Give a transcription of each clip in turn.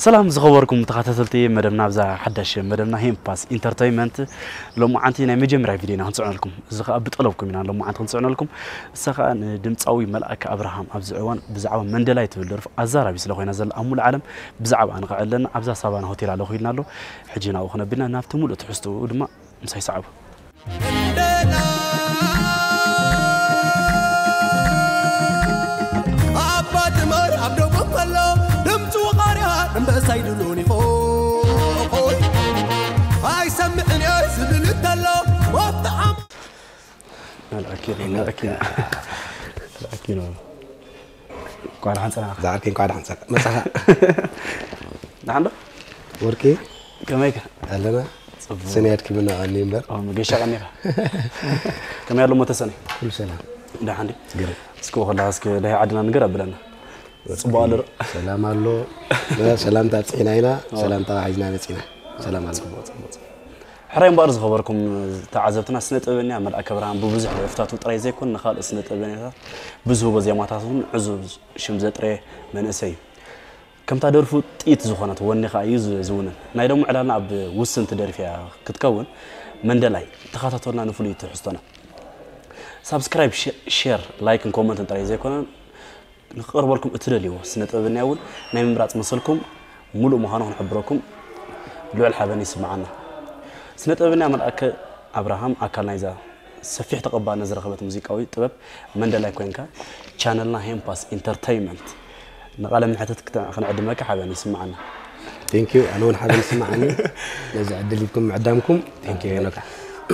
ሰላም ዝኸበርኩም ተኸታተልቲ መደብና፣ ኣብዛ ሓዳሽ መደብና ሄምፓስ ኢንተርተይመንት ሎማዓንቲ ናይ መጀመርያ ቪድዮና ክንጽዕነልኩም። እዚ ኸኣ ብጠለብኩም ኢና ሎማዓንቲ ክንጽዕነልኩም። እሳ ኸኣ ንድምጻዊ መልኣከ ኣብርሃም ኣብዚ እዋን ብዛዕባ መንደላይ ትብል ደርፉ ኣዛራቢ ስለ ኮይና ዘላ ኣብ ሙሉእ ዓለም ብዛዕባ ንኸዕለና ኣብዛ ሳቫና ሆቴል ኣለኹ ኢልና ኣሎ። ሕጂ ናብኡ ክነብልና ናብቲ ሙሉእ ትሕዝትኡ ድማ ምሳይ ሰዓቡ። ኣባ ድመር ኣብ ደቡብ ከሎ ድምፂ ወቓርያ እምበሳይ ድሉን ይኾይ ኣይሰምዕን እየ ዝብል እንተሎ ወፍቲ ዓም መልኣኪ ነው፣ መልኣኪ ነው። መልኣኪ ነው። እንኳን ደሓን ጸናሕካ። ዝዓርከይ እንኳን ደሓን ጸናሕካ። መጻኻ። ደሓን ዶ? ወርቂ ከመይካ? ኣለና። ጽቡቕ። ሰኒ ኣድኪምና ቀኒ እምበር። ኦ፣ መገሻ ቀኒኻ። ከመይ ኣሎ ሞተ ሰኒ? ኩሉ ሰላም። ደሓን ዲ? ግርም። እስኪ ወኸላ እስኪ ደሃይ ዓድና ንገር ኣብለና። ጽቡቕ ኣሎ ዶ? ሰላም ኣሎ። ሰላምታ ኣብጽሒና ኢና። ኦ። ሰላምታ ሒዝና መጺና። ሰላም ኣሎ። ጽቡቕ፣ ጽቡቕ፣ ጽቡቕ። ሕራይ እምበኣር ዝኸበርኩም ተዓዘብትና፣ ስነ ጥበበኛ መልኣከ ኣብርሃም ብብዙሕ ደርፍታቱ ጥራይ ዘይኮነ ንኻልእ ስነ ጥበበኛታት ብዝህቦ ዜማታት እውን ዕዙዝ ሽም ዘጥረየ መንእሰይ እዩ። ከምታ ደርፉ ጥይት ዝኾነት ወኒ ኸኣ እዩ ዝ- ዝውንን። ናይ ደሞ ዕላልና ኣብ ውስንቲ ደርፊ እያ ክትከውን። መንደላይ ተኸታተሉና ንፍሉይ ትሕዝቶና። ሳብስክራይብ፣ ሸ- ሼር፣ ላይክን ኮመንትን ጥራይ ዘይኮነ ንክቐርበልኩም እትደልይዎ ስነ ጥበበኛ እውን ናይ ምምራፅ መሰልኩም ሙሉእ ምዃኑ ክንሕብረኩም ልዑል ሓበን ይስምዓና። ስነ ጥበበኛ መልኣከ ኣብርሃም ኣካል ናይዛ ሰፊሕ ተቐባልነት ዝረኸበት ሙዚቃዊ ጥበብ መንደላይ ኮይንካ ቻነልና ሄምፓስ ኢንተርተይመንት ንቓለ መሕትት ክተ- ክንዕድመካ ሓበን ይስምዓና። Thank you ኣነ እውን ሓበን ይስምዓኒ ነዚ ዕድል ሂብኩም ምዕዳምኩም። Thank you ሄኖካ።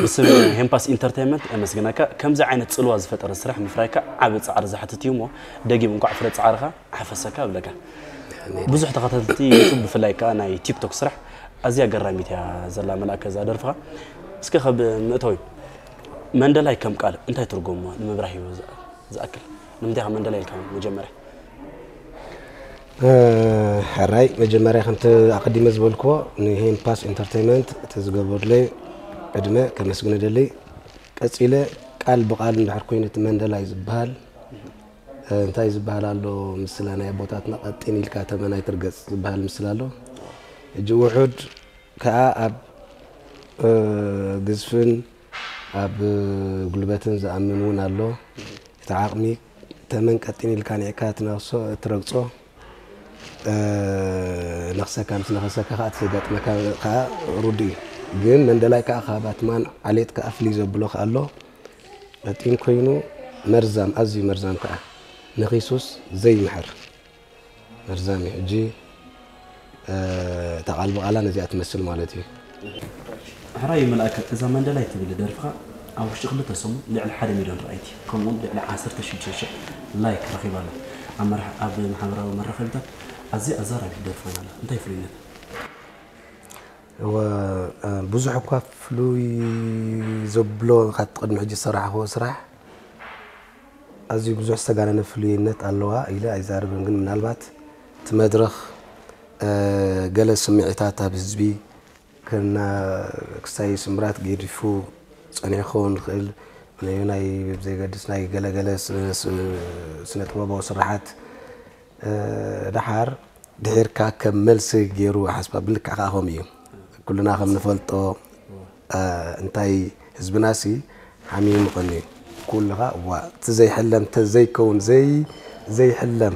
ብስም ሄምፓስ ኢንተርተይመንት የመስግነካ። ከምዚ ዓይነት ጽልዋ ዝፈጠረ ስራሕ ምፍራይካ ዓቢ ጻዕሪ ዝሓትት እዩ እሞ ደጊም እንኳዕ ፍረ ጻዕርኻ ሓፈሰካ እብለካ። ብዙሕ ተኸታተልቲ ዩቱብ ብፍላይ ከኣ ናይ ቲክቶክ ስራሕ ኣዝያ ገራሚት እያ ዘላ መልኣከ እዛ ደርፍኻ። እስኪ ካብ መእተዊ መንደላይ ከም ቃል እንታይ ትርጉም ንምብራህ እዩ ዝኣ- ዝኣክል? ንምንታይ ከ መንደላይ ኢልካ መጀመርያ? ሕራይ መጀመርያ ከምቲ ኣቐዲመ ዝበልክዎ ንሄምፓስ ኢንተርተይመንት እቲ ዝገበሩለይ ዕድመ ከመስግን እደሊ። ቀጺለ ቃል ብቓል እንድሕር ኮይኑ እቲ መንደላይ ዝበሃል እንታይ ዝበሃል ኣሎ ምስላ ናይ ኣቦታትና ቀጢን ኢልካ ተመን ኣይትርገጽ ዝበሃል ምስላ ኣሎ። ሕጂ ውሑድ ከኣ ኣብ ግዝፍን ኣብ ጉልበትን ዝኣምን እውን ኣሎ። እቲ ዓቕሚ ተመን ቀጢን ኢልካ ኒዕካ ትነኽሶ ትረግጾ ነኽሰካ ምስ ነኸሰካ ከዓ እቲ ዘጋጥመካ ከዓ ርዱእ እዩ። ግን መንደላይ ከዓ ካብ ኣትማን ዓሌት ከዓ ፍልይ ዘብሎ ከዓ ኣሎ። ቀጢን ኮይኑ መርዛም፣ ኣዝዩ መርዛም ከዓ ነኺሱስ ዘይምሕር መርዛም እዩ። ሕጂ እታ ቃል ብቓላ ነዚኣ ትመስል ማለት እዩ። ሕራይ መልኣከ፣ እዛ መንደላይ ትብል ደርፍኻ ኣብ ውሽጢ ክልተ ሰሙን ልዕሊ ሓደ ሚልዮን ረኣይቲ ከምኡውን ልዕሊ ዓሰርተ ሽዱሽተ ሽሕ ላይክ ረኺባ ኣላ። ኣብ መርሓ- ኣብ ማሕበራዊ መራኸቢታት ኣዝያ ኣዛራቢት ደርፊ ኮይና ኣላ። እንታይ ፍሉይነት? እወ፣ ብዙሕ እኳ ፍሉይ ዘብሎ ካብቲ ቅድሚ ሕጂ ዝሰራሕኽዎ ስራሕ ኣዝዩ ብዙሕ ዝተጋነነ ፍሉይነት ኣለዋ ኢለ ኣይዛረብን፣ ግን ምናልባት እቲ መድረኽ ገለ ስምዒታት ኣብ ህዝቢ ክና ክሳይ ስምራት ገዲፉ ጸኒሑ ክኸውን ይኽእል። ናይ ብዘየገድስ ናይ ገለገለ ስነ ጥበባዊ ስራሓት ደሓር ድሒርካ ከም መልሲ ገይሩ ሓስባ ብልክዕ ከዓ ከምኡ እዩ። ኩልና ከም ንፈልጦ እንታይ ህዝብና ሲ ሓሚሙ ምቐኒ ኩልኻ እዋ እቲ ዘይሕለም ተዘይከውን ዘይ ዘይሕለም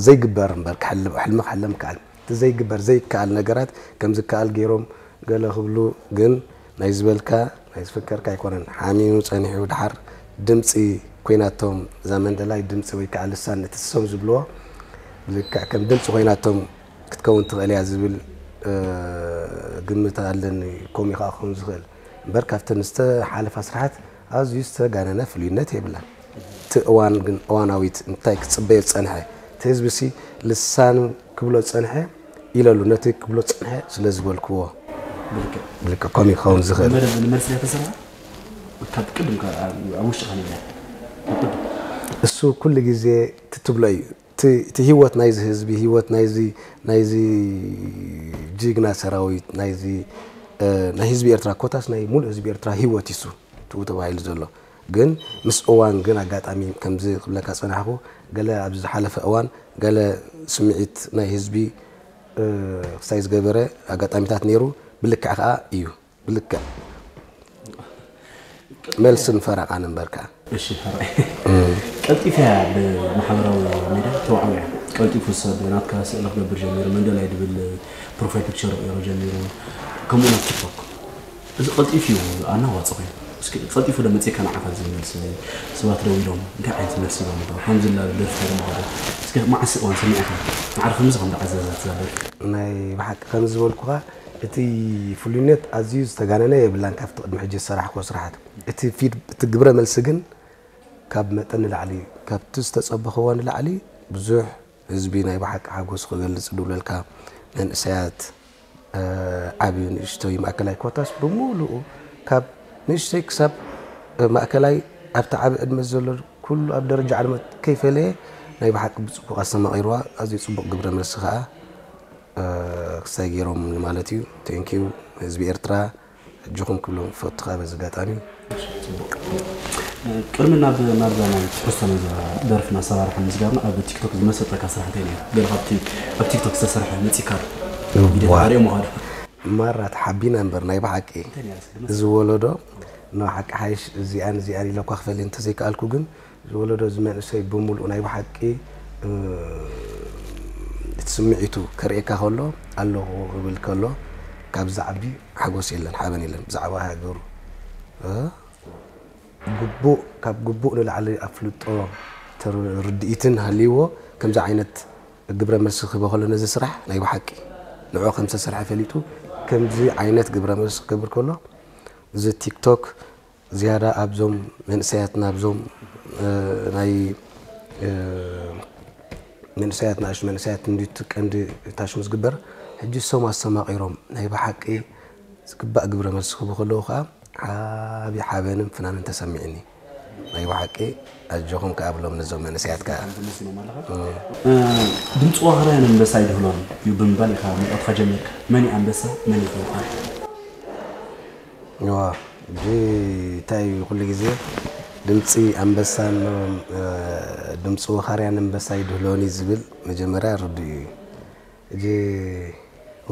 ዘይግበር እምበር ክሕልም ሕልሚ ክሕለም ከኣል እቲ ዘይግበር ዘይከኣል ነገራት ከም ዝከኣል ገይሮም ገለ ክብሉ ግን ናይ ዝበልካ ናይ ዝፍከርካ ኣይኮነን ሓሚሙ ጸኒሑ ድሓር ድምጺ ኮይናቶም እዛ መንደላይ ድምጺ ወይ ከዓ ልሳን እቲ ሰም ዝብልዎ ልክዕ ከም ድምፂ ኮይናቶም ክትከውን ትኽእል እያ ዝብል ግምት ኣለኒ። ከምኡ ከዓ ክኸውን ዝኽእል እምበር ካብተን ዝተሓለፋ ስራሓት ኣዝዩ ዝተጋነነ ፍሉይነት የብላን። እቲ እዋን ግን እዋናዊት እንታይ ክፅበዮ ዝፀንሐ እቲ ህዝቢ ሲ ልሳኑ ክብሎ ዝፀንሐ ኢለሉ ነቲ ክብሎ ዝፀንሐ ስለ ዝበልክዎ ብልክዕ ከምኡ ክኸውን ዝኽእል። መደብ ንመልሲ እያ ተሰርሓ ካብ ቅድም ኣብ ውሽጢ ከ ነይራ? እሱ ኩሉ ግዜ ትትብሎ እዩ። እቲ ህይወት ናይዚ ህዝቢ ህይወት ናይዚ ናይዚ ጅግና ሰራዊት ናይዚ ናይ ህዝቢ ኤርትራ ኮታስ ናይ ሙሉእ ህዝቢ ኤርትራ ህይወት ይሱ ትኡ ተባሂሉ ዘሎ ግን ምስ እዋን ግን ኣጋጣሚ ከምዚ ክብለካ ጸናሕኩ ገለ ኣብዚ ዝሓለፈ እዋን ገለ ስምዒት ናይ ህዝቢ ክስታይ ዝገበረ ኣጋጣሚታት ነይሩ። ብልክዕ ከዓ እዩ፣ ብልክዕ። መልስን ፈረቓን እምበር ከዓ። እሺ፣ ሕራይ። ቀልጢፈያ ብማሕበራዊ ሚድያ ተዋዕውያ። ቀልጢፉ ሰብ ናትካ ስእሊ ክገብር ጀሚሩ፣ መንደላይ ድብል ፕሮፋይል ፒክቸር ክቕይሮ ጀሚሩ። ከምኡ ናብ ቲክቶክ። እዚ ቀልጢፉ እዩ ኣናዋፂ ኮይኑ። እስኪ ቀልጢፉ ዶ መፂእካ ንዓኻ ዝብል መልሲ ሰባት ደው ኢሎም እንታይ ዓይነት መልሲ ኢሎም ዶ? ሓምዚ ላ ደርፊ ዶ ማለት እስኪ መዓስ እዋን ሰሚዕካ? ማዕረ ከምዚ ከም ዝዓዘዘት እዛ ደርፊ። ናይ ብሓቂ ከም ዝበልኩኻ እቲ ፍሉይነት ኣዝዩ ዝተጋነነ የብላን ካብቲ ቅድሚ ሕጂ ዝሰራሕክዎ ስራሓት። እቲ ፊድ እቲ ግብረ መልሲ ግን ካብ መጠን ንላዕሊ ካብቲ ዝተጸበኽዎ ንላዕሊ ብዙሕ ህዝቢ ናይ ብሓቂ ሓጎሱ ክገልጽ ድብለልካ መንእሰያት ዓብዩ ንእሽቶይ ማእከላይ ኮታስ ብምሉኡ ካብ ንእሽቶይ ክሳብ ማእከላይ ኣብቲ ዓቢ ዕድመ ዘሎ ኩሉ ኣብ ደረጃ ዕድመ ከይፈለየ ናይ ብሓቂ ብጽቡቕ ኣስተማቒርዋ ኣዝዩ ጽቡቕ ግብረ መልሲ ከኣ ክስታይ ገይሮም ማለት እዩ። Thank you ህዝቢ ኤርትራ። ኣጆኹም ክብሎም እፈቱ ከኣ በዚ ኣጋጣሚ። ቅድሚ ናብ ናብዛ ናይ ትሕዝቶ ናይዛ ደርፍን ኣሰራርሓን ምስጋብና ኣብ ቲክቶክ ዝመሰጠካ ስራሕቲ ነይሩ። ገለ ካብቲ ኣብ ቲክቶክ ዝተሰርሐ መጺካ ቪድዮ ዋ። ተሪኦ ምዃኑ። ማራ ተሓቢና እምበር ናይ ብሓቂ እንታይ ነይራ እስኪ ድመስ- እዚ ወለዶ ንሓቂ ሓይሽ እዚኣን እዚኣን ኢለ እኳ ክፈሊ እንተዘይከኣልኩ ግን ዝወለዶ እዚ መንእሰይ ብምሉኡ ናይ ብሓቂ እቲ ስምዒቱ ከርእየካ ከሎ ኣለኹ ክብል ከሎ ካብዚ ዓቢ ሓጎስ የለን ሓበን የለን ብዛዕባ ሃገሩ ግቡእ ካብ ግቡእ ንላዕሊ ኣፍልጦ ርድኢትን ሃልይዎ ከምዚ ዓይነት ግብረ መልሲ ክህቦ ከሎ ነዚ ስራሕ ናይ ብሓቂ ንዑ ከም ዝተሰርሐ ፈሊጡ ከምዚ ዓይነት ግብረ መልሲ ክገብር ከሎ እዚ ቲክቶክ ዝያዳ ኣብዞም መንእሰያትና ኣብዞም ናይ መንእሰያት ንኣሽቱ መንእሰያት እንዲቱ ቀንዲ ታሽሙ ዝግበር ሕጂ እሶም ኣስተማቒሮም ናይ ብሓቂ ዝግባእ ግብረ መልሲ ክህቡ ከለዉ ከዓ ዓብዪ ሓበንን ፍናንን ተሰሚዕኒ ናይ ብሓቂ ኣጆኹም ከዓ ብሎም ነዞም መንእሰያት ከዓ ድምፂ ዋህራያን ኣንበሳ ይድህሎን እዩ ብምባል ኢኻ መርዖትካ ጀሚርካ መን እዩ ኣንበሳ መን እዩ ተወኻሪ እዋ ሕጂ እንታይ እዩ ኩሉ ግዜ ድምፂ ኣንበሳን ድምፂ ወኻርያን ኣንበሳ ይድህሎኒ ዝብል መጀመርያ ርድኡ እዩ። ሕጂ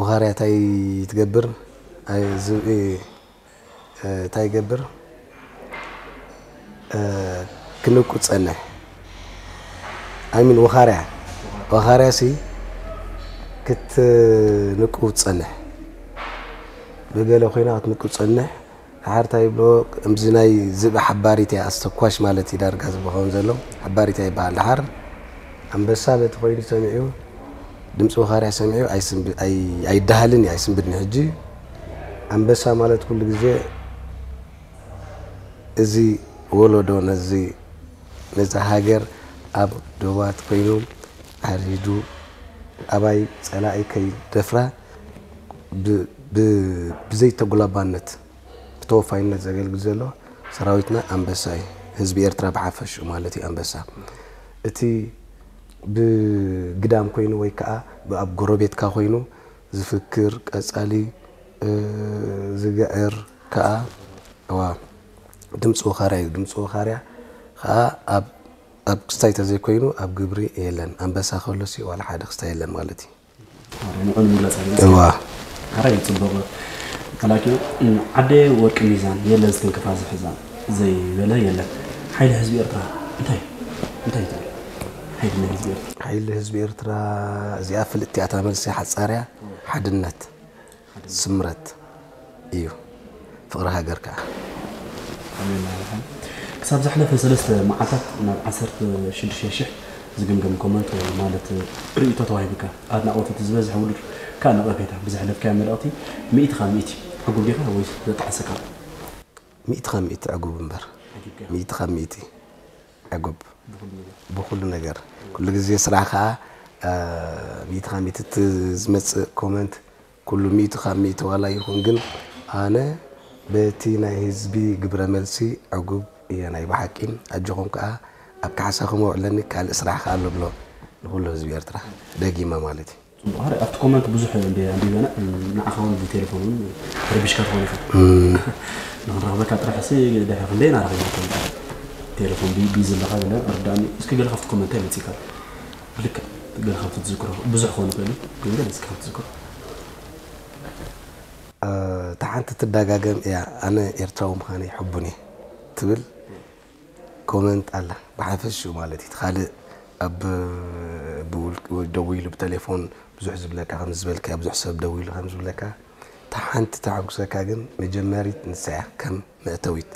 ወኻርያ እንታይ ትገብር ዝብኢ እንታይ ይገብር ክንቁ ዝፀንሕ ኣይሚን ወኻርያ ወኻርያ ሲ ክትንቁ ትፀንሕ ብገለ ኮይና ክትንቁ ትፀንሕ ድሓር እንታይ ይብሎ ከምዚ ናይ ዝብኢ ሓባሪት እያ ኣስተኳሽ ማለት እዩ ዳርጋ ዝብኸውን ዘሎ ሓባሪት እያ ይበሃል ድሓር ኣንበሳ በቲ ኮይኑ ሰሚዑ ድምፂ ወኻርያ ሰሚዑ ኣይስንብ- ኣይ- ኣይደሃልን እዩ ኣይስንብድን ሕጂ ኣንበሳ ማለት ኩሉ ግዜ እዚ ወለዶ ነዚ ነዛ ሃገር ኣብ ዶባት ኮይኑ ዓሪዱ ኣባይ ፀላኢ ከይደፍራ ብ- ብ- ብዘይተጉላባነት ብተወፋይነት ዘገልግል ዘሎ ሰራዊትና ኣንበሳ እዩ። ህዝቢ ኤርትራ ብሓፈሽኡ ማለት እዩ ኣንበሳ። እቲ ብግዳም ኮይኑ ወይ ከዓ ኣብ ጎረቤትካ ኮይኑ ዝፍክር ቀፃሊ ዝግዕር ከዓ እዋ ድምፂ ወኻርያ እዩ። ድምፂ ወኻርያ ከዓ ኣብ ኣብ ክስታይ ተዘይኮይኑ ኣብ ግብሪ የለን። ኣንበሳ ከሎ ሲ ዋላ ሓደ ክስታይ የለን ማለት እዩ። ንዑ ንምግላፅ እዋ ሓራይ ፅቡቕ ላኪ ዓደ ወርቂ ሚዛን የለን ዝትንክፋ ዝሕዛ ዘይበለ የለን ሓይሊ ህዝቢ ኤርትራ እንታይ እንታይ ትብል ሓይሊ ናይ ህዝቢ ኤርትራ ሓይሊ ህዝቢ ኤርትራ እዚኣ ፍልጥቲ ኣታ መልሲ ሓፃርያ ሓድነት ስምረት እዩ ፍቕሪ ሃገር ከዓ ክሳብ ዝሓለፈ ሰለስተ መዓልታት ናብ ዓሰርተ ሽዱሽተ ሽሕ ዝግምገም ኮመንት ማለት ርእይቶ ተዋሂብካ ኣድናቖት እቲ ዝበዝሐ ውድድር ከዓ ነቐፌታ ብዘሕለፍካዮ መልእኽቲ ሚእቲ ካብ ሚእቲ ዕጉብ ዲኻ ወይስ ዘጠዓሰካ ሚእቲ ካብ ሚእቲ ዕጉብ እምበር ሚእቲ ካብ ሚእቲ ዕጉብ ብኩሉ ነገር ኩሉ ግዜ ስራሕ ከዓ ሚእቲ ካብ ሚእቲ እቲ ዝመፅእ ኮመንት ኩሉ ሚእቲ ካብ ሚእቲ ዋላ ይኹን ግን ኣነ በቲ ናይ ህዝቢ ግብረ መልሲ ዕጉብ እየ ናይ ብሓቂ ኣጆኹም ከዓ ኣብ ካሕሳኹም ኣውዕለኒ ካልእ ስራሕ ከዓ ኣሎ ብሎ ንኩሉ ህዝቢ ኤርትራ ደጊመ ማለት እዩ። ጽቡቕ። ሃረ ኣብቲ ኮመንት ብዙሕ እንደ ኣንቢበና ንዓኻ እውን ብቴሌፎን እውን ተረቢሽካ ትኾን ኢኻ። ንኽንረኽበካ ጥራሕ ሲ ድሕሪ ክንደይ ኢና ረኺብና ኮን ቴሌፎን ቢ ቢዚ ኣለኻ ገለ ርዳእኒ። እስኪ ገለ ካብቲ ኮመንት እንታይ መጺእካ? ብልክዕ ገለ ካብ ትዝክሮ ብዙሕ ክኾን ይኽእል እዩ፣ ግን ገለ እስኪ ካብ ትዝክሮ። እታ ሓንቲ ትደጋገም እያ፣ ኣነ ኤርትራዊ ምዃነይ ሕቡን እየ ትብል ኮመንት ኣላ። ብሓፈሽኡ ማለት እዩ። እቲ ካልእ ኣብ ብውልቂ ወይ ደዊሉ ብቴሌፎን ብዙሕ ዝብለካ ከም ዝበልካ ብዙሕ ሰብ ደዊሉ ከም ዝብለካ እታ ሓንቲ ተሐጉሰካ ግን መጀመሪት ንሳ እያ ከም መእተዊት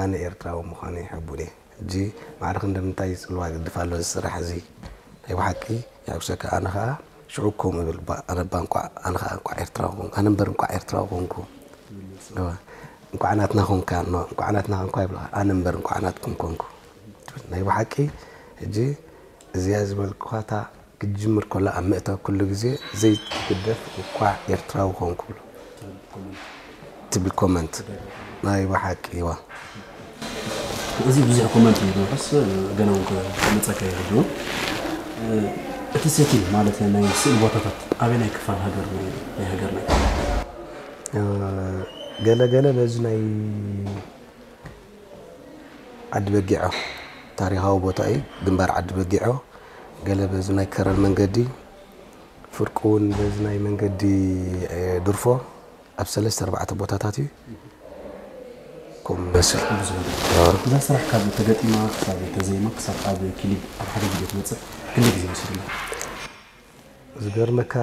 ኣነ ኤርትራዊ ምዃነይ ሕቡን እየ። ሕጂ ማዕረ ክንዲ ምንታይ ይጽልዋ ግድፍ ኣሎ እዚ ስራሕ እዚ ናይ ብሓቂ የሐጉሰካ። ኣነ ኸኣ ሽዑ ከምኡ እብል፣ ባ- ኣነ እባ እንቋዕ ኣነ ኸኣ እንቋዕ ኤርትራዊ ኮንኩ፣ ኣነ እምበር እንቋዕ ኤርትራዊ ኮንኩ። እዋ፣ እንቋዕ ናትና ኮንካ፣ ኖ፣ እንቋዕ ናትና ኮንካ ይብልኻ፣ ኣነ እምበር እንቋዕ ናትኩም ኮንኩ። ናይ ብሓቂ ሕጂ እዚኣ ዝበልኩኻታ ክጅምር ከሎ ኣብ መእተዊ ኩሉ ግዜ ዘይትግደፍ እንቋዕ ኤርትራዊ ኮንኩ ብሎ ትብል ኮመንት ናይ ብሓቂ እዋ። እዚ ብዙሕ ኮመንት እዩ ዝመልስ፣ ገና እውን ክመፀካ ይኽእል እዩ። እቲ ሴቲንግ ማለት ናይ ስእሊ ቦታታት ኣበየናይ ክፋል ሃገር ናይ ናይ ሃገርና እዩ? ገለ ገለ በዚ ናይ ዓዲ በጊዖ ታሪኻዊ ቦታ እዩ፣ ግንባር ዓዲ በጊዖ። ገለ በዚ ናይ ከረን መንገዲ፣ ፍርቂ እውን በዚ ናይ መንገዲ ድርፎ ኣብ ሰለስተ ኣርባዕተ ቦታታት እዩ። ከምኡ ይመስል። እዛ ስራሕ ካብ ተገጢማ ክሳብ ተዘይማ ክሳብ ኣብ ክሊፕ ኣብ ሓደ ቪድዮ ትመፅእ ክንደይ ግዜ ወሲዱላ? ዝገርመካ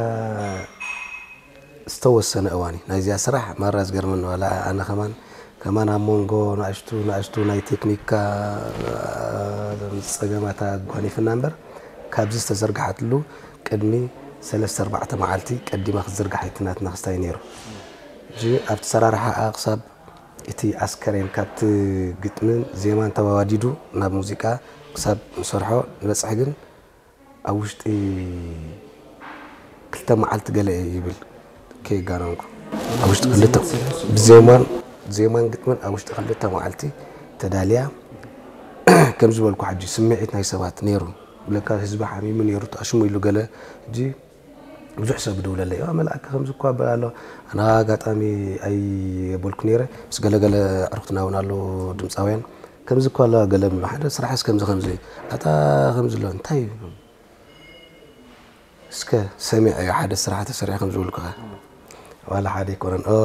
ዝተወሰነ እዋን እዩ ናይዚኣ ስራሕ ማራ ዝገርመኒ ዋላ ኣነ ከማን ከማን ኣብ መንጎ ናእሽቱ ናእሽቱ ናይ ቴክኒካ ጸገማት ኣጓኒፍና እምበር ካብዚ ዝተዘርግሓትሉ ቅድሚ ሰለስተ ኣርባዕተ መዓልቲ ቀዲማ ክትዝርጋሕ ኣይትናትና ክስታይ ነይሩ። ሕጂ ኣብቲ ሰራርሓኣ ክሳብ እቲ ኣስከሬን ካብቲ ግጥምን ዜማን ተዋዲዱ ናብ ሙዚቃ ክሳብ ንሰርሖ ንበፅሕ ግን ኣብ ውሽጢ ክልተ መዓልቲ ገለ እየ ይብል ከየጋነንኩ ኣብ ውሽጢ ክልተ ብዜማን ዜማን ግጥምን ኣብ ውሽጢ ክልተ መዓልቲ ተዳልያ ከም ዝበልኩ ሕጂ ስምዒት ናይ ሰባት ነይሩ ብለካ ህዝቢ ሓሚሙ ነይሩ ተኣሽሙ ኢሉ ገለ ሕጂ ብዙሕ ሰብ ይድውለለይ ዋ መልኣከ ከምዚ እኳ በል ኣሎ ኣነ ኣጋጣሚ ኣይበልኩ ነይረ ምስ ገለገለ ዕርክትና እውን ኣለዉ ድምፃውያን ከምዚ እኳ ኣለዋ ገለ ሓደ ስራሕስ ከምዚ ከምዚ ኣታ ከምዚ ኣሎ እንታይ እስከ ሰሚዐ ሓደ ስራሕ ተሰሪሑ ከም ዝብልኩኻ ዋላ ሓደ ኣይኮነን ኦ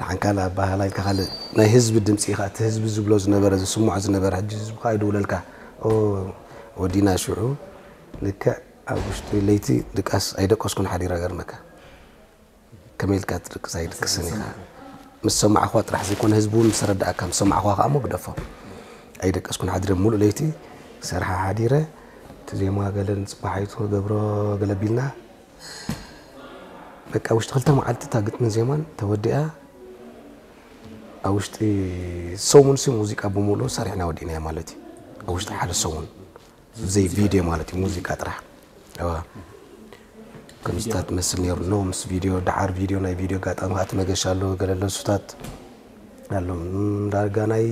ንሓን ካልእ ኣባህላ ኢልካ ካልእ ናይ ህዝቢ ድምፂ ኢኻ እቲ ህዝቢ ዝብሎ ዝነበረ ዝስምዖ ዝነበረ ሕጂ ህዝቢ ከዓ ይድውለልካ ኦ ወዲና ሽዑ ልክዕ ኣብ ውሽጢ ለይቲ ድቃስ ኣይደቀስኩን ሓዲረ ገርመካ ከመይ ኢልካ ትድቅስ ኣይድቅስን ኢኻ ምስ ሰማዕኳ ጥራሕ ዘይኮነ ህዝቢ እውን ምስ ተረዳእካ ምስ ሰማዕኳ ከዓ እሞ ግደፎ ኣይደቀስኩን ሓዲረ ሙሉእ ለይቲ ክሰርሓ ሓዲረ እቲ ዜማ ገለ ንፅባሒቱ ክገብሮ ገለ ቢልና በቃ ውሽጢ ክልተ መዓልቲ እታ ግጥምን ዜማን ተወዲኣ ኣብ ውሽጢ ሰሙን ሲ ሙዚቃ ብምሉኡ ሰሪሕና ወዲእናዮ ማለት እዩ ኣብ ውሽጢ ሓደ ሰሙን ብዘይ ቪድዮ ማለት እዩ ሙዚቃ ጥራሕ እዋ ከምስታት ትመስል ነይሩ ኖ ምስ ቪድዮ ደዓር ቪድዮ ናይ ቪድዮ ኣጋጣሚ ከዓ እቲ መገሻ ኣለዎ ገለ ለሱታት ኣሎ ዳርጋ ናይ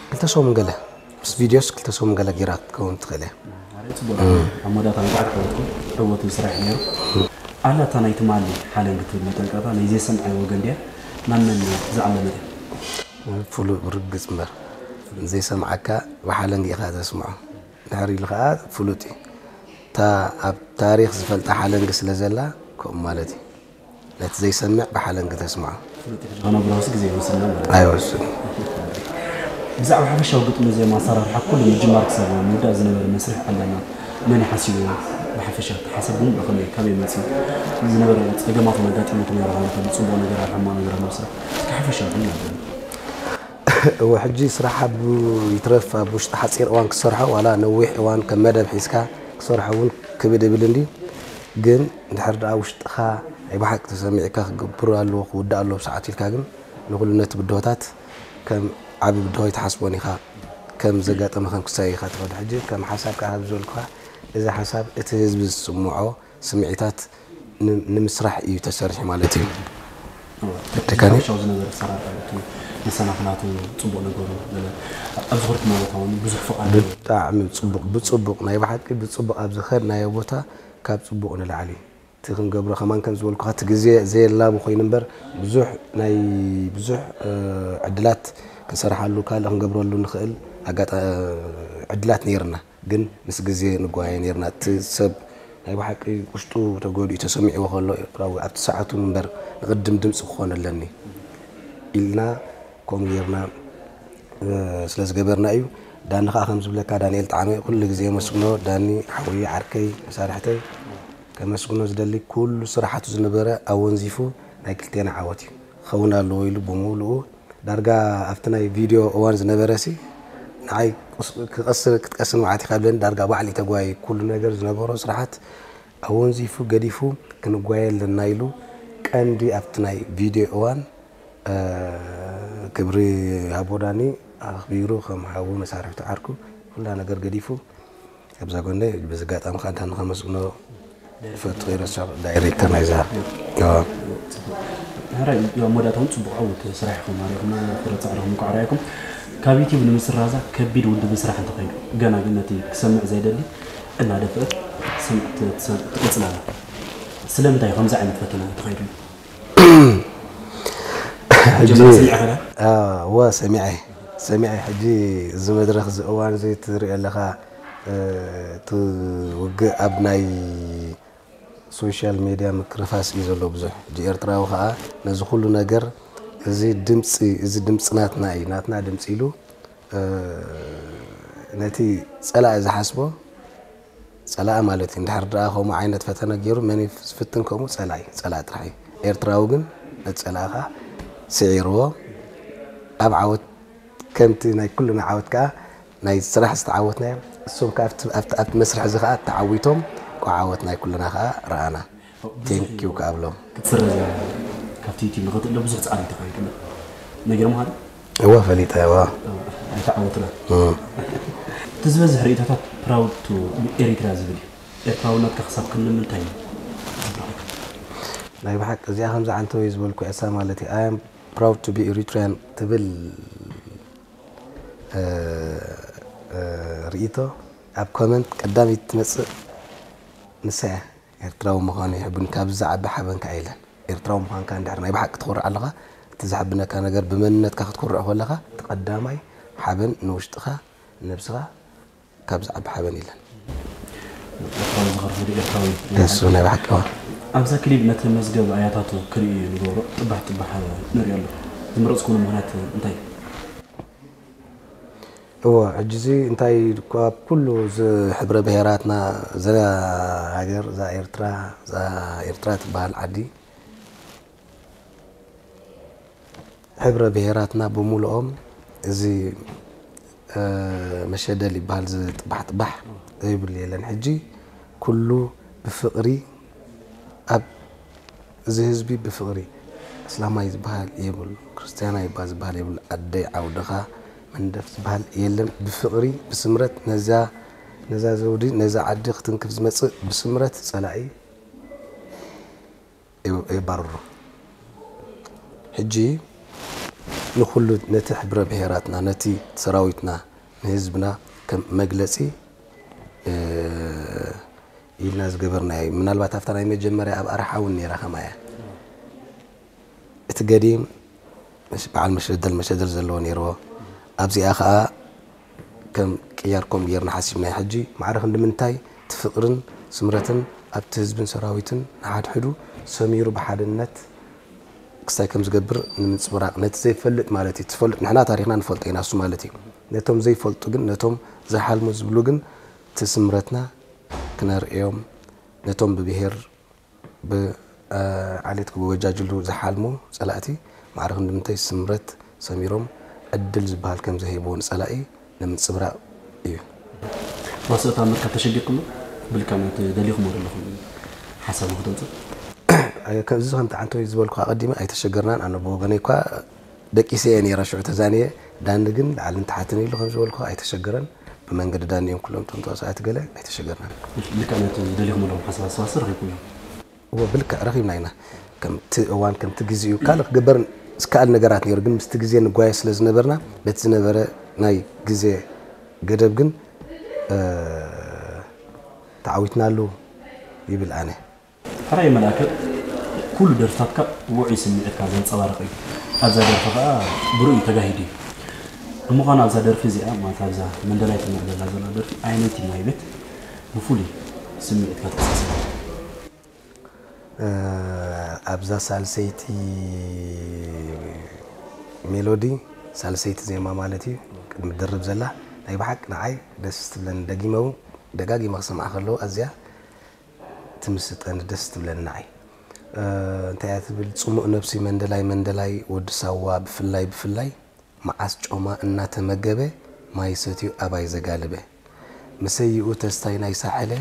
ክልተ ሰሙን ገለ ምስ ቪድዮስ ክልተ ሰሙን ገለ ጌራ ክትከውን ትኽእል እያ ኣብ መወዳእታ እንኳዕ ክሕወትኩም ዕወት ስራሕ ነይሩ ኣላ እታ ናይ ትማሊ ሓለንግ ትብል መጠንቀቕታ ናይ ዘይሰምዐ ወገን ድያ ናብ መን ዝዓለመት እያ ፍሉጥ ርግፅ እምበር ዘይሰምዓካ ብሓለንግ ኢኻ ተስምዖ ድሕር ኢሉ ከዓ ፍሉጥ እዩ እታ ኣብ ታሪክ ዝፈልጣ ሓለንግ ስለ ዘላ ከምኡ ማለት እዩ ነቲ ዘይሰምዕ ብሓለንግ ተስምዖ ከነብርሆስ ግዜ ይወስድና ማለት እዩ። ኣይወስን ብዛዕባ ሓፈሻዊ ግጥሚ ዜማ ኣሰራርሓ ኩሉ ምጅማር ክሳብ ምውዳእ ዝነበረ መስርሕ ዓላማ መን እዩ ሓሲብዎ? ብሓፈሻ እቲ ሓሳብ ብምሉእ ከመይ ካበይ መፂኡ? ዝነበረ ፀገማት እውን ኣጋጢሙኩም ነይሩ ክኸውን ይኽእል እዩ፣ ፅቡቕ ነገራት ሕማቕ ነገራት ንምስራሕ እስኪ ሓፈሻዊ ሕልና በሉ። እወ ሕጂ ስራሕ ኣብ ይትረፍ ኣብ ውሽጢ ሓፂር እዋን ክሰርሖ ዋላ ነዊሕ እዋን ከም መደብ ሒዝካ ክሰርሖ እውን ክብድ እብል እንድዩ ግን እንድሕር ደኣ ውሽጥኻ ናይ ብሓቂ ተሰሚዕካ ክገብር ኣለዎ ክውዳእ ኣለዎ ብሰዓቱ ኢልካ ግን ንኹሉ ነቲ ብድሆታት ከም ዓቢ ብድሆ ኣይትሓስቦን ኢኻ ከም ዘጋጠመ ከም ክሳይ ኢኻ ትኸድ ሕጂ ከም ሓሳብ ከዓ ከም ዝበልኩኻ እዚ ሓሳብ እቲ ህዝቢ ዝስምዖ ስምዒታት ንምስራሕ እዩ ተሰሪሑ ማለት እዩ። ተካኒ ዝነበረ ኣሰራርሓ እቲ መሰናኽላቱ ፅቡቕ ነገሩ ገለ ኣብ ዝኽርኩሞ ቦታ እውን ብዙሕ ፍቓድ ብጣዕሚ ፅቡቕ ብፅቡቕ ናይ ብሓቂ ብፅቡቕ ኣብ ዝኸድናዮ ቦታ ካብ ፅቡቕ ንላዕሊ እቲ ክንገብሮ ከማን ከም ዝበልኩኻ እቲ ግዜ ዘየላቡ ኮይኑ እምበር ብዙሕ ናይ ብዙሕ ዕድላት ክንሰርሓሉ ካልእ ክንገብረሉ ንኽእል ዕድላት ነይርና ግን ምስ ግዜ ንጓየ ነርና። እቲ ሰብ ናይ ብሓቂ ውሽጡ ተጎዲኡ ተሰሚዕዎ ከሎ፣ ኤርትራዊ ኣብቲ ሰዓቱ እምበር ንቕድም ድምፂ ክኾን ኣለኒ ኢልና ከምኡ ጌርና ስለ ዝገበርና እዩ። ዳኒ ከዓ ከም ዝብለካ፣ ዳንኤል ጣዕመ ኩሉ ግዜ የመስግኖ። ዳኒ ሓወይ፣ ዓርከይ፣ መሳርሕተይ፣ ከመስግኖ ዝደሊ ኩሉ ስራሓቱ ዝነበረ ኣወንዚፉ ናይ ክልቴና ዓወት እዩ ክኸውን ኣለዎ ኢሉ ብምሉኡ ዳርጋ ኣብቲ ናይ ቪድዮ እዋን ዝነበረ ሲ ንዓይ ክቐስር ክትቀስን መዓት ኢኻ ብለኒ። ዳርጋ ባዕሊ ተጓይ ኩሉ ነገር ዝነበሮ ስራሓት ኣወንዚፉ ገዲፉ ክንጓየ ኣለና ኢሉ ቀንዲ ኣብቲ ናይ ቪድዮ እዋን ክብሪ ሃቦ ዳኒ ኣኽቢሩ ከም ሓዉ መሳርሕቱ ዓርኩ ኩላ ነገር ገዲፉ ኣብዛ ጎነይ በዚ ኣጋጣሚ ከዓ ንኸመስግኖ ይፈቱ። ይረሳ ዳይሬክተር ናይዛ ሕራይ ኣብ መወዳእታ እውን ፅቡቅ ዓወት ስራሕ ኢኹም ኣሪኹምና ፍረ ፃዕርኹም እንኳዕ ርኣይኩም። ካብ ዩቲብ ንምስራዛ ከቢድ ውድብ ስራሕ እንተኸይዱ ገና ግን ነቲ ክሰምዕ ዘይደሊ እናደፍአት ትቕፅል ኣላ። ስለምንታይ ከምዚ ዓይነት ፈተና ተኸይዱ? ወ ሰሚዐ ሰሚዐ ሕጂ እዚ መድረክ እዚ እዋን እዚ ትሪኦ ኣለካ እቲ ውግእ ኣብ ናይ ሶሻል ሜድያ ምክርፋስ እዩ ዘሎ ብዙሕ ሕጂ ኤርትራዊ ከዓ ነዚ ኩሉ ነገር እዚ ድምፂ እዚ ድምፂ ናትና እዩ ናትና ድምፂ ኢሉ ነቲ ፀላኢ ዝሓስቦ ፀላኢ ማለት እዩ። እንድሕር ደኣ ከምኡ ዓይነት ፈተነ ገይሩ መን እዩ ዝፍትን ከምኡ ፀላኢ ፀላኢ ጥራሕ እዩ። ኤርትራዊ ግን ነቲ ፀላኢ ከዓ ስዒርዎ ኣብ ዓወት ከምቲ ናይ ኩልና ዓወት ከዓ ናይ ስራሕ ዝተዓወትናዮ እሶም ከዓ ኣብቲ ኣብቲ ኣብቲ መስርሕ እዚ ከዓ ተዓዊቶም እኳ ዓወት ናይ ኩልና ከዓ ረኣና። ቴንኪው ከዓ ብሎም ክትስረዝ ካብቲ ዩቲብ ንክትእለ ብዙሕ ፃዕሪ ተካይዱ ነጊሮምካ ዶ? እወ ፈሊጠ እወ ኣይተዓወትና። እቲ ዝበዝሕ ርእቶታት ፕራውድ ቱ ኤሪትራ ዝብል እዩ። ኤርትራውነትካ ክሳብ ክንዲ ምንታይ እዩ? ናይ ብሓቂ እዚኣ ከምዚ ዓንተወይ ዝበልኩ ዕሳ ማለት እዩ። I am proud to be Eritrean ትብል እ፣ እ፣ ርእይቶ ኣብ ኮመንት ቀዳመይቲ ትመጽእ ንሳ እያ። ኤርትራዊ ምዃኑ ይሕብን ካብ ዝዓቢ ሓበን ከዓ የለን። ኤርትራዊ ምዃንካ እንድሕር ናይ ብሓቂ ትኾርዕ ኣለኻ፣ እቲ ዘሕብነካ ነገር ብመንነትካ ክትኮርዕ ከለኻ እቲ ቀዳማይ ሓበን ንውሽጥኻ ንነብስኻ ካብ ዝዓቢ ሓበን የለን። ኤርትራዊ ዝኸርፉ ኤርትራዊ እሱ ናይ ብሓቂ እዋ ኣብዛ ክሊፕ ነቲ መዝገብ ኣያታቱ ክርኢ ንገብሮ ጥባሕ ጥባሕ ንሪኦ ኣሎ። ዝመረፅኩሉ ምኽንያት እንታይ እዩ? እወ ሕጂ እዚ እንታይ ካብ ኩሉ እዚ ሕብረ ብሄራትና እዛ ሃገር እዛ ኤርትራ እዛ ኤርትራ ትበሃል ዓዲ ሕብረ ብሄራትና ብምሉኦም እዚ መሸደል ይበሃል እዚ ጥባሕ ጥባሕ ዘይብሉ የለን ሕጂ ኩሉ ብፍቕሪ ኣብ እዚ ህዝቢ ብፍቕሪ እስላማይ ዝበሃል የብሉ ክርስትያናይ እባ ዝበሃል የብሉ ኣደይ ዓውድኻ መንደፍ ዝበሃል የለን ብፍቕሪ ብስምረት ነዛ ነዛ ዘውዲ ነዛ ዓዲ ክትንክፍ ዝመፅእ ብስምረት ፀላኢ የባርሩ። ሕጂ ንኹሉ ነቲ ሕብረ ብሄራትና፣ ነቲ ሰራዊትና፣ ንህዝብና ከም መግለጺ ኢልና ዝገበርናዮ እዩ። ምናልባት ኣብታ ናይ መጀመርያ ኣብ ኣርሓ እውን ነይራ ከምኣ እያ። እቲ ገዲም በዓል መሸደል መሸደል ዘለዎ ነይርዎ። ኣብዚኣ ከኣ ከም ቅያር ከምኡ ጌርና ሓሲብናዮ። ሕጂ ማዕረ ክንዲ ምንታይ እቲ ፍቕርን ስምረትን ኣብቲ ህዝብን ሰራዊትን ንሓድሕዱ ሰሚሩ ብሓድነት ክስታይ ከም ዝገብር ንምንጽብራቕ ነቲ ዘይፈልጥ ማለት እዩ። ትፈልጥ ንሕና ታሪኽና ንፈልጦ ኢና እሱ ማለት እዩ። ነቶም ዘይፈልጡ ግን ነቶም ዘይሓልሙ ዝብሉ ግን እቲ ስምረትና ክነርእዮም ነቶም ብብሄር ብዓሌት ክወጃጅሉ ዝሓልሙ ጸላእቲ ማዕረ ክንዲ ምንታይ ስምረት ሰሚሮም ዕድል ዝበሃል ከም ዘይህብዎ ንጸላኢ ንምንጽብራቕ እዩ። ዋስኦ ታምር ካብ ተሸጊርኩምሉ ብልክዕ ነቲ ደሊኹሞ ዘለኹም ሓሳብ ንክተምጽእ እዚ ከምቲ ዓንተወይ ዝበልኩ ኣቐዲመ ኣይተሸገርናን ኣነ ብወገነይ እኳ ደቂሰ እየ ነይረ ሽዑ ተዛንየ ዳኒ ግን ላዕልን ታሕትን ኢሉ ከም ዝበልኩ ኣይተሸገረን ብመንገዲ ዳኒ እዮም ኩሎም እቶም ተዋሳእቲ ገለ ኣይተሸገርናን። ልክዕ ነቲ ደሊኹሞ ዘለኹም ሓሳብ ኣስተዋስኦ ረኺብኩም እዮም። እወ ብልክዕ ረኺብና ኢና። ከምቲ እዋን ከምቲ ግዜኡ ካልእ ክግበር ዝከኣል ነገራት ነይሩ ግን ምስቲ ግዜ ንጓየ ስለ ዝነበርና በቲ ዝነበረ ናይ ግዜ ገደብ ግን ተዓዊትናሉ ይብል ኣነ። ሕራይ መልኣከ ኩሉ ደርፍታትካ ውዑይ ስምዒትካ ዘንጸባርቕ እዩ። ኣብዛ ደርፊ ከኣ ብርኡይ ተጋሂዱ እዩ። ንምዃኑ ኣብዛ ደርፊ እዚኣ ማለት ኣብዛ መንደላይ ትምዕደላ ዘላ ደርፊ ኣየነይቲ ማይ ቤት ብፍሉይ ስምዒትካ ትቀሳሰር? ኣብዛ ሳልሰይቲ ሜሎዲ ሳልሰይቲ ዜማ ማለት እዩ ቅድሚ ድርብ ዘላ ናይ ብሓቂ ንዓይ ደስ ትብለኒ። ደጊመ እውን ደጋጊመ ክሰምዓ ከለዉ ኣዝያ ትምስጠኒ፣ ደስ ትብለኒ ንዓይ። እንታይ እያ ትብል? ጽሙእ ነብሲ መንደላይ መንደላይ ወዲ ሳዋ ብፍላይ ብፍላይ መዓስ ጮማ እናተመገበ ማይ ሰትዩ ኣባይ ዘጋልበ፣ መሰይኡ ተስታይ ናይ ሳሕለ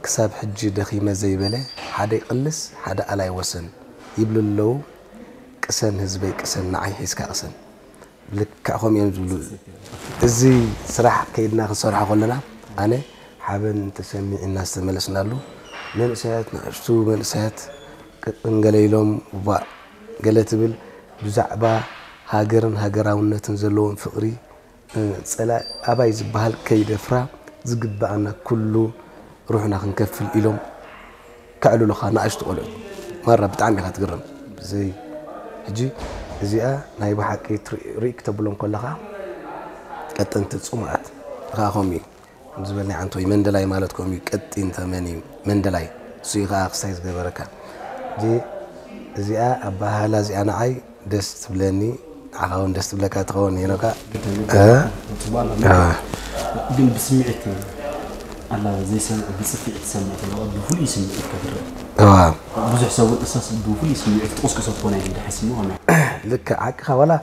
ክሳብ ሕጂ ደኺመ ዘይበለ፣ ሓደ ይቕልስ ሓደ ኣላይ ወሰን ይብሉ ኣለዉ። ቅሰን ህዝበይ ቅሰን፣ ንዓይ ሒዝካ ቅሰን። ብልክዕ ከምኡ እዮም ዝብሉ። እዚ ስራሕ ከይድና ክንሰርሖ ከለና ኣነ ሓበን ተሰሚዕና ዝተመለስናሉ መንእሰያት፣ ንኣሽቱ መንእሰያት ቅጥን ገለ ኢሎም፣ ዋእ ገለ ትብል፣ ብዛዕባ ሃገርን ሃገራውነትን ዘለዎም ፍቕሪ፣ ጸላኢ ኣባይ ዝበሃል ከይደፍራ ዝግበኣና ኩሉ ሩሕና ክንከፍል ኢሎም ከዕልሉኻ ንኣሽቱ ቆልዑት። ማራ ብጣዕሚ ኢኻ ትግረም። ብዘይ ሕጂ እዚኣ ናይ ብሓቂ ሪእክ ተብሎም ከለኻ ቀጠንቲ ጽሙኣት። ንኻ ከምኡ እዩ ዝበል ናይ ዓንቶይ መንደላይ ማለት ከምኡ እዩ። ቀጢን ተመን እዩ መንደላይ። እሱ እዩ ከዓ ክስታይ ዝገበረካ። ሕጂ እዚኣ ኣባሃህላ እዚኣ ንዓይ ደስ ትብለኒ። ንዓኻ እውን ደስ ትብለካ ትኸውን ሄኖካ። ጽቡቅ ኣላ። ግን ብስምዒት ኣላ ዘይሰምዕ ብጽፍዒት ትሰምዕ ተለዋ ብፍሉይ ስምዒት ከትረአ። ብዙሕ ሰብ እውን እሳስ ብፍሉይ ስምዒት ትቕስቅሶ ትኾን እያ ኢለ ሓሲብ ምኾነ። ልክዕ ሓቅኻ። ዋላ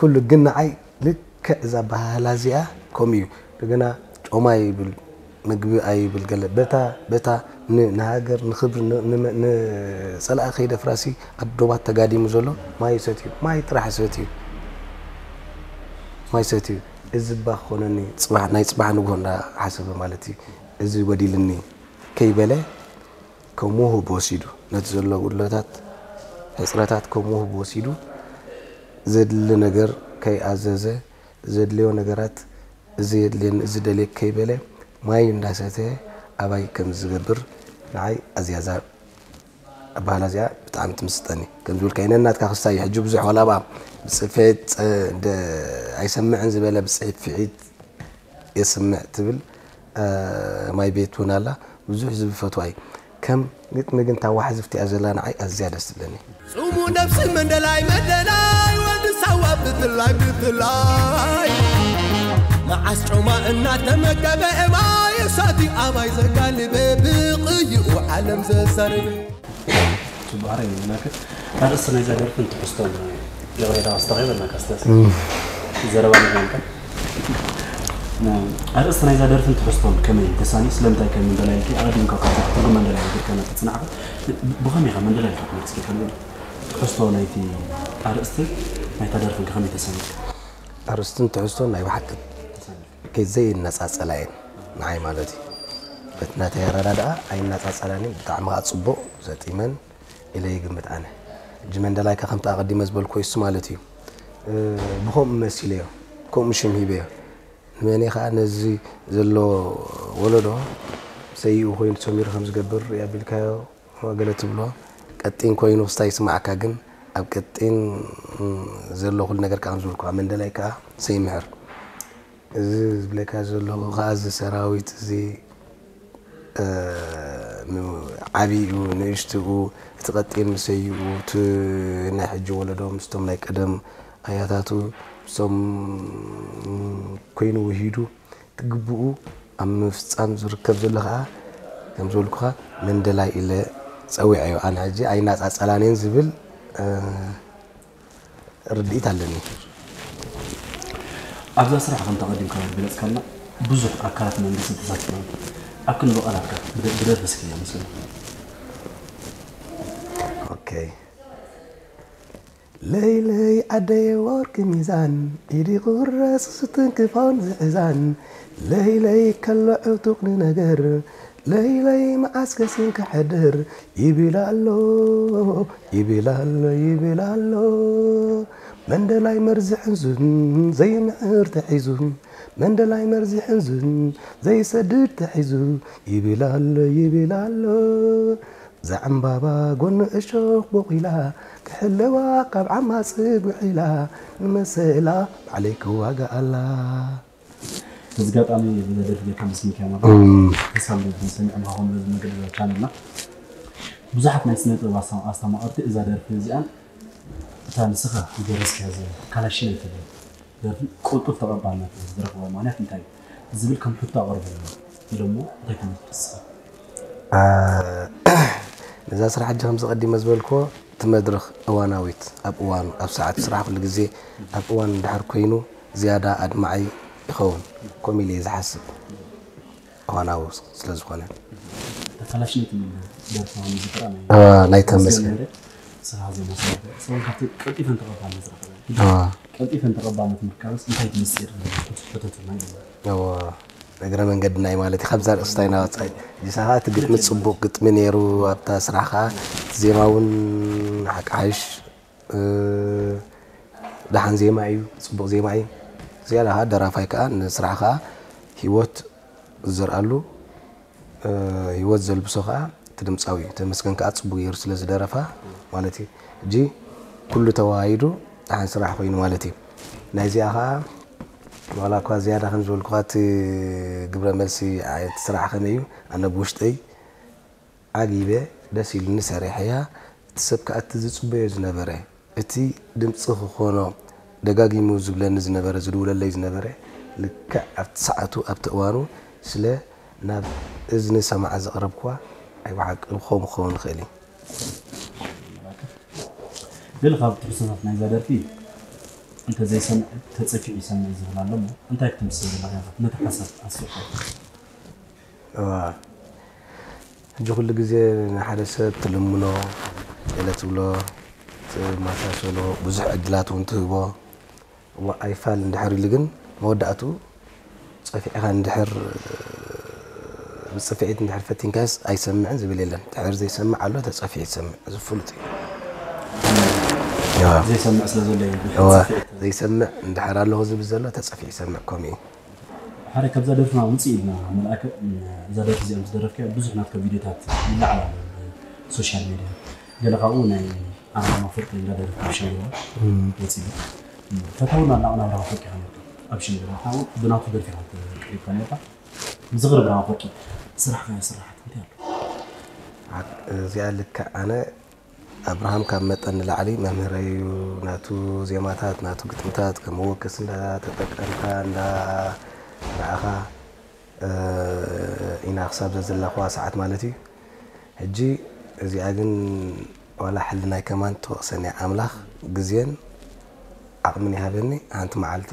ኩሉ ግን ንዓይ ልክዕ እዛ ኣባሃህላ እዚኣ ከምኡ እዩ። እንደገና ጮማ ይብል፣ ምግቢ ኣይብል ገለ። በታ በታ ን- ንሃገር ንኽብሪ ን- ንመ- ንጸላኢ ከይደፍራሲ ኣብ ዶባት ተጋዲሙ ዘሎ ማይ ይሰትዩ፣ ማይ ጥራሕ ይሰትዩ፣ ማይ ይሰትዩ። እዚ እባ ክኾነኒ ጽባሕ ናይ ጽባሕ ንግሆ እንዳሓሰበ ማለት እዩ። እዚ ወዲልኒ ከይበለ ከም ውሁብ ወሲዱ ነቲ ዘሎ ጉድለታት ሕጽረታት ከም ውሁብ ወሲዱ ዘድሊ ነገር ከይኣዘዘ ዘድልዮ ነገራት እዚ የድልየኒ እዚ ደልየ ከይበለ ማይ እንዳሰተየ ኣባይ ከም ዝገብር ንዓይ ኣዝያ እዛ ኣባህላ እዚኣ ብጣዕሚ ትምስጠኒ። ከም ዝብልካዮ ነናትካ ክስታይ እዩ። ሕጂ ብዙሕ ዋላ ብኣ ብጽፌት ጸ- እንደ- ኣይሰምዕን ዝበለ ብጽሒት ፊዒት የስምዕ ትብል ማይ ቤት እውን ኣላ። ብዙሕ ዝብፈትዋ እዩ። ከም ግጥሚ ግን እታ ዋሕዝፍቲ እያ ዘላ ንዓይ ኣዝያ ደስ ትብለኒ። ጽሙ ነብሲ መንደላይ መንደላይ ወዲ ሳዋ ብፍላይ ብፍላይ መዓስ ጮማ እናተመገበ እማይ እሳት ኣባይ ዘጋልበ ብቕይኡ ዓለም ዘዛርበ ጽቡቕ ኣረ ይብለካ ኣርእስቲ ናይዛ ደርፍን ትሕዝቶን ይቕሬታ ኣስተኺበልናካ ስተስ ዘረባ ንኮንካ ኣርእስቲ ናይዛ ደርፍን ትሕዝቶን ከመይ ተሳኒ ስለምንታይ ከ መንደላይ ኢልኪ ኣቐዲምካ ካብ ትርጉም መንደላይ ኢልካ ናብ ተጽናዕካ ብኸመይ ኢኻ መንደላይ ኢልካ ክመልስኪ ከመይ ትሕዝቶ ናይቲ ኣርእስቲ ናይታ ደርፍን ከመይ ተሳኒ ኣርእስትን ትሕዝቶን ናይ ብሓቂ ከይዘይነጻጸላ እየን ንዓይ ማለት እዩ። በቲ ናተይ ኣረዳድኣ ኣይነጻጸላን እየን። ብጣዕሚ ከዓ ጽቡቕ ዘጢመን ኢለ ይግምት ኣነ። ሕጂ መንደላይካ ከምቲ ኣቐዲመ ዝበልኩ እሱ ማለት እዩ። ብኸምኡ መሲለዮ ከምኡ ሽም ሂበዮ። ንመን ከዓ ነዚ ዘሎ ወለዶ ሰይኡ ኮይኑ ሰሚሩ ከም ዝገብር ሪኣ ቢልካዮ ገለ ትብሎ ቀጢን ኮይኑ ክስታይ ይስማዓካ ግን ኣብ ቀጢን ዘሎ ኩሉ ነገር ከዓ ከም ዝበልኩ መንደላይ ከዓ ሰይምሕር እዚ ዝብለካ ዘለኹ ከዓ እዚ ሰራዊት እዚ ዓብይኡ ንእሽትኡ እቲ ቀጢን ምሰይኡ እቲ ናይ ሕጂ ወለዶ ምስቶም ናይ ቀደም ኣያታቱ ምስቶም ኮይኑ ውሂዱ እቲ ግብኡ ኣብ ምፍፃም ዝርከብ ዘሎ ከዓ ከም ዝበልኩኻ መንደላይ ኢለ ፀዊዐዮ ኣነ ሕጂ ኣይናፃፀላንየን ዝብል ርድኢት ኣለኒ። ኣብዛ ስራሕ ከምቲ ኣቐዲምካ ዝገለፅካልና ብዙሕ ኣካላት መንግስቲ ተሳቲፎም ኣብ ክንዲ ቃላትካ ብደርፊ እስኪ ኣመስግን። ለይለይ ዓደየ ወርቂ ሚዛን ኢዲ ቁረስ ስትንክፎን ዝሕዛን ለይለይ ከሎ ዕጡቕ ንነገር ለይለይ መዓስ ከሲን ክሕድር ይብል ኣሎ ይብል ኣሎ ይብል ኣሎ መንደላይ መርዚ ሕንዙን ዘይምዕር ተሒዙ መንደላይ መርዚ ሕንዙን ዘይሰድድ ተሒዙ ይብል ኣሎ ይብል ኣሎ ዘዕምባባ ጎኒ እሾኽ ቦቒላ ሕለዋ ካብ ዓማጽ ጉሒላ ንመሰላ ባዕለይ ክዋጋኣላ። በዚ ኣጋጣሚ ብዘደርፍ ጌርካ ምስ ሚካኤል ማራ ተሳብ ሰሚዕና ኾን በዚ መገዲ ቻነልና ብዙሓት ናይ ስነ ጥበብ ኣስተማቐርቲ እዛ ደርፊ እዚኣን እታ ንስኻ ዝደረስካያ እዛ ካላሽን እትብል ደርፊ ቅልጡፍ ተቐባልነት ዝረኽባ ምኽንያት እንታይ እዩ ዝብል ከም ሕቶ ኣቕርበልና ኢሎሞ እንታይ ትምልስ ንስኻ? ነዛ ስራሕ ሕጂ ከምዚ ቀዲመ ዝበልክዎ እቲ መድረኽ እዋናዊት ኣብ እዋኑ ኣብ ሰዓት ስራሕ ኩሉ ግዜ ኣብ እዋን እንድሕር ኮይኑ ዝያዳ ኣድማዒ ይኸውን ከምኡ ኢለ እየ ዝሓስብ እዋናዊ ስለ ዝኾነ ተካላሽነት የሚል ደርፋ ዝጥራ ናይ ተመስገን ስራ ዜማ ሰራተ ሰውን ካብቲ ቀልጢፈን ተቐባልነት ዝረኸበ ቀልጢፈን ተቐባልነት ምርካብስ እንታይ ትምስጢር ሕተትና ይብላ እግረ መንገድና እዩ ማለት እዩ ካብዛ ርእስታ ኢና ወፃኢ ጅሳ ከዓ እቲ ግጥሚ ፅቡቅ ግጥሚ ነይሩ ኣብታ ስራሕ ከዓ እቲ ዜማ እውን ሓቃሓሽ ደሓን ዜማ እዩ ፅቡቅ ዜማ እዩ ዝያዳ ከዓ ደራፋይ ከዓ ንስራሕ ከዓ ሂወት ዝዘርኣሉ ሂወት ዘልብሶ ከዓ እቲ ድምፃዊ እዩ ተመስገን ከዓ ፅቡቅ ገይሩ ስለ ዝደረፋ ማለት እዩ እጂ ኩሉ ተዋሃሂዱ ደሓን ስራሕ ኮይኑ ማለት እዩ ናይዚኣ ከዓ ዋላ እኳ ዝያዳ ከም ዝበልኩኻ እቲ ግብረ መልሲ እቲ ስራሕ ከመይ እዩ ኣነ ብውሽጠይ ዓጊበ ደስ ኢሉኒ ሰሪሐያ እቲ ሰብ ከዓ እቲ ዝፅበዮ ዝነበረ እቲ ድምፂ ክኾኖ ደጋጊሙ ዝብለኒ ዝነበረ ዝድውለለይ ዝነበረ ልክዕ ኣብቲ ሰዓቱ ኣብቲ እዋኑ ስለ ናብ እዝኒ ሰማዓ ዘቕረብክዋ ኣይ ብሓቂ ብኸምኡ ክኸውን ይኽእል እዩ ገለ ካብ ትሕዝቶታት ናይዛ ደርፊ እንተዘይሰምዕ ተፀፊዑ ይሰምዕ ዝብል ኣሎ እሞ እንታይ ክትምስል ዘለካ ነቲ ሓሳብ ኣስፊሕካ ሕጂ ኩሉ ግዜ ንሓደ ሰብ ትልምኖ ገለ ትብሎ ትመሳሰሎ ብዙሕ ዕድላት እውን ትህቦ እሞ ኣይፋል እንድሕር ኢሉ ግን መወዳእትኡ ፀፊዕኻ እንድሕር ብፅፍዒት እንድሕር ፈቲንካስ ኣይሰምዕን ዝብል የለን ድሕር ዘይሰምዕ ኣሎ ተፀፊዑ ይሰምዕ እዚ ፍሉጥ እዩ ዘይሰምዕ ስለ ዘሎ እዩ እዋ ዘይሰምዕ እንድሕር ኣለኹ ዝብል ዘሎ ተፀፊዑ ይሰምዕ ከምኡ እዩ ሓደ ካብዛ ደርፍና ውፅእ ኢልና መልኣከ እዛ ደርፊ እዚኣ ምስ ደረፍካዮ ብዙሕ ናትካ ቪድዮታት ይለዓል ኣሎ ሶሻል ሚድያ ገለ ካብኡ ናይ ኣናብራ ፍርቂ እንዳደረፍካ ኣብ ሸንግራ ወፂኡ ፈታውና እናቕናብራ ፍርቂ ከነርካ ኣብ ሸንግራ ብናቱ ደርፊ ቀሪብካ ነርካ ዝኽሪ ብርሃን ፍርቂ ስራሕካ ስራሓት እንታይ ኣሎ እዚኣ ልክዕ ኣነ ኣብርሃም ካብ መጠን ንላዕሊ መምህረይ እዩ ናቱ ዜማታት ናቱ ግጥምታት ከም መወከሲ እንዳተጠቀምካ እንዳረኣኻ ኢና ክሳብ ዘዘለኽዋ ሰዓት ማለት እዩ ሕጂ እዚኣ ግን ዋላ ሕልናይ ከማን ትወቕሰኒ ኣምላኽ ግዜን ዓቕምን ይሃበኒ ሓንቲ መዓልቲ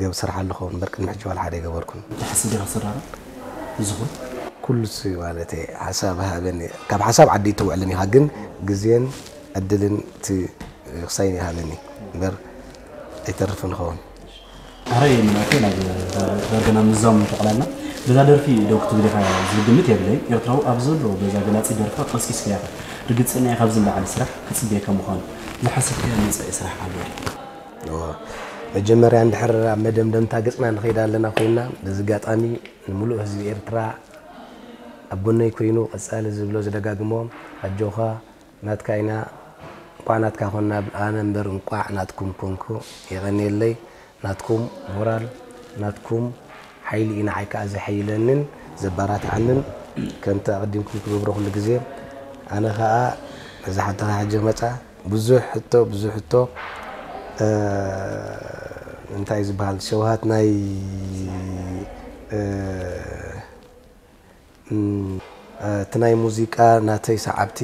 ገብ ስራሕ ኣለኹ እምበር ቅድሚ ሕጂ ዋላ ሓደ ኣይገበርኩን። እንታይ ሓስብ ዲኻ ሰራራ ዝኹን ኩሉ ሲ ማለት ሓሳብ ሃበኒ ካብ ሓሳብ ዓዲ ትውዕልን ኢኻ ግን ግዜን ዕድልን እቲ ክሳይን ይሃበኒ እምበር ኣይተርፍን ኸውን። ኣረ የምናከ ናብ ዳርገና ምዛም ተቐላልና በዛ ደርፊ ደው ክትብል ኢኻ ዝብል ግምት የብለይ ኤርትራዊ ኣብ ዘሎ በዛ ገላጺ ደርፋ ቀስቂስካ ኢኻ ርግጽና ኢኻ ኣብዚ ንላዕሊ ስራሕ ክጽበየካ ምዃኑ ዝሓሰብካዮ መጻኢ ስራሕ ኣሎ ድዩ መጀመርያ እንድሕር ኣብ መደምደምታ ገጽና ንኸይድ ኣለና ኮይና በዚ ኣጋጣሚ ንምሉእ ህዝቢ ኤርትራ ኣብ ጎነይ ኮይኑ ቀጻሊ ዝብሎ ዝደጋግሞ ኣጆኻ ናትካ ኢና እንቋዕ ናትካ ኮና ኣነ እምበር እንቋዕ ናትኩም ኮንኩ የቐንየለይ ናትኩም ሞራል ናትኩም ሓይሊ እዩ ንዓይ ከዓ ዘሐይለንን ዘባራትዓንን ከምቲ ኣቐዲምኩም ትገብሮ ኩሉ ግዜ ኣነ ከዓ ነዛ ሓንቲ ከዓ ሕጂ መፃ ብዙሕ ሕቶ ብዙሕ ሕቶ እንታይ ዝበሃል ሸውሃት ናይ እቲ ናይ ሙዚቃ ናተይ ሰዓብቲ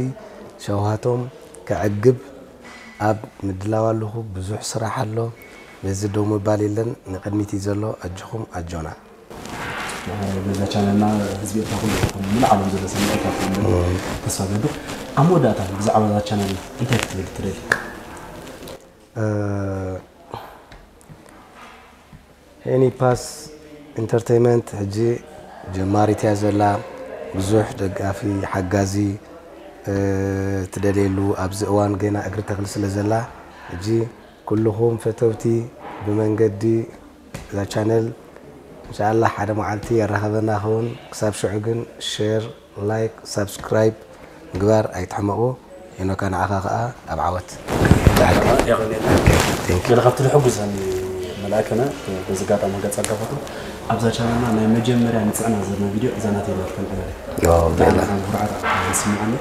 ሸውሃቶም ከዕግብ ኣብ ምድላው ኣለኹ ብዙሕ ስራሕ ኣሎ በዚ ደው ምባል የለን ንቅድሚት እዩ ዘሎ ኣጆኹም ኣጆና በዛ ቻነልና ህዝቢ ኤርትራ ኩሉ ይኹን ሙሉ ዓለም ዘሎ ሰሚዒ ካብቶም ተስፋ ገብር ኣብ መወዳእታ ብዛዕባ እዛ ቻነል እንታይ ክትብል ትደሊ ሄኒ ፓስ ኢንተርቴይመንት ሕጂ ጀማሪት እያ ዘላ ብዙሕ ደጋፊ ሓጋዚ ትደልየሉ ኣብዚ እዋን ገና እግሪ ተኽሊ ስለ ዘላ ሕጂ ኩልኹም ፈተውቲ ብመንገዲ እዛ ቻነል እንሻላ ሓደ መዓልቲ የራኸበና ኸውን ክሳብ ሽዑ ግን ሼር ላይክ ሳብስክራይብ ምግባር ኣይትሕመቑ ሄኖካ፣ ንዓኻ ከኣ ኣብ ዓወት። ብሓቂ። የቐኔልና። Thank you። ገለ ካብቲ ዝሕጉሰኒ መልኣከና በዚ ኣጋጣሚ ገጸ ኣጋፈቱ ኣብዛ ቻነልና ናይ መጀመርያ ንጽዕና ዘለና ቪድዮ እዛ ናተይ ናትካ ንዕበለ ዮ፣ ብዕላ። ብጣዕሚ ኩርዓት ይስምዓኒ።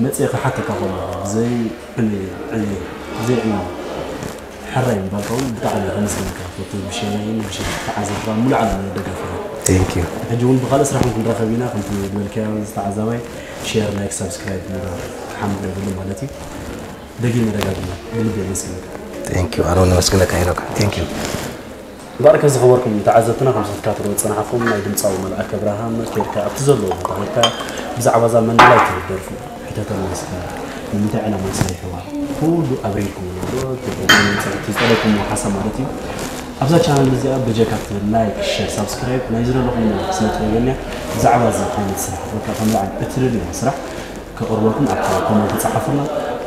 መጽኤ ክሓተካ ከሎ ብዘይ ብዘይ ዕዮ ሕራይ ምባልካ እውን ብጣዕሚ ከመስግነካ ፈቱ። ብሸነይን ብሸ ተዓዘብካ ሙሉ ዓለም ደጋፊ Thank you። ሕጂ እውን ብካልእ ስራሕ እውን ክንራኸብ ኢና። ከምቲ ዝበልካዮ ዝተዓዛባይ ሼር፣ ላይክ፣ ሳብስክራይብ ምግባር ሓምድ የብሉ ማለት እዩ። ደጊመ ደጋጊመ ብልቢ የመስግነካ። Thank you። ኣነ እውን ነመስግነካ ሄኖካ። Thank you። እምበኣር ከዚ ዝኸበርኩም ተዓዘብትና ከም ዝትከታተሉ ዝጸናሕኩም ናይ ድምፃዊ መልኣከ ኣብርሃም ከድካ ኣብቲ ዘለዎ ቦታ ከድካ ብዛዕባ እዛ መንደላይ ትብል ደርፉ ሕተተሉ እስኪ ንምንታይ ዕላማ ሰሪሕዋ ኩሉ ኣብሪርኩም ኣሎ ዶ? እቲ ዝጠለብኩም ሓሳብ ማለት እዩ። ኣብዛ ቻናል እዚኣ በጀካ ትብል ላይክ፣ ሸር፣ ሳብስክራይብ ናይ ዝደለኹም ስለ ትገብረልያ ብዛዕባ እዚ ዓይነት ስራሕ በቃ ከም በዓል እትደልዮ ስራሕ ከቕርበልኩም ኣብ ኮመንት ጸሓፉና።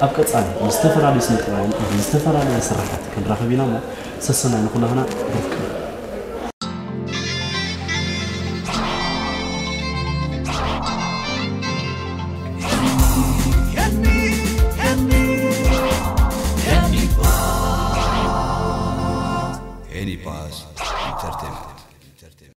ኣብ ቀጻሊ ምስ ዝተፈላለዩ ስነ ጥበባውያን ዝተፈላለዩ ስራሓት ክንራኸብ ኢና እሞ ሰሰናይ ንኹላህና። ብፍቅሪ። Any Pass Entertainment.